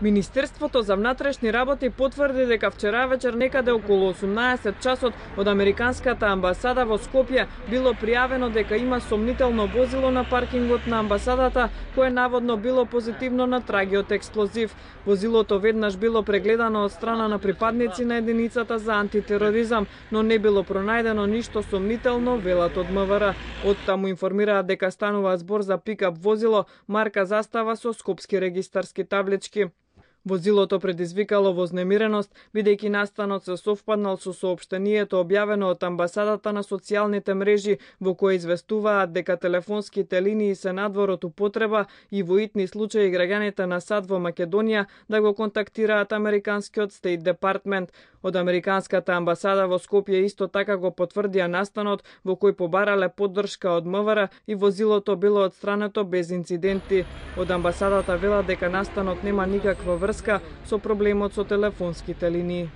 Министерството за внатрешни работи потврди дека вчера вечер некаде околу 18 часот од Американската амбасада во Скопје било пријавено дека има сомнително возило на паркингот на амбасадата кое наводно било позитивно на трагиот експлозив. Возилото веднаш било прегледано од страна на припадници на единицата за антитероризам, но не било пронајдено ништо сомнително, велат од МВР. Оттаму информираат дека станува збор за пикап возило марка застава со скопски регистарски таблички. Возилото предизвикало вознемиреност, бидејќи настанот се совпаднал со соопштението објавено од амбасадата на социјалните мрежи, во кое известуваат дека телефонските линии се надвор од употреба и во итни случаи граѓаните на САД во Македонија да го контактираат американскиот Стейт Департмент. Од Американската амбасада во Скопје исто така го потврдија настанот во кој побарале поддршка од МВР и возилото било отстрането без инциденти. Од амбасадата велат дека настанот нема никаква врска со проблемот со телефонските линии.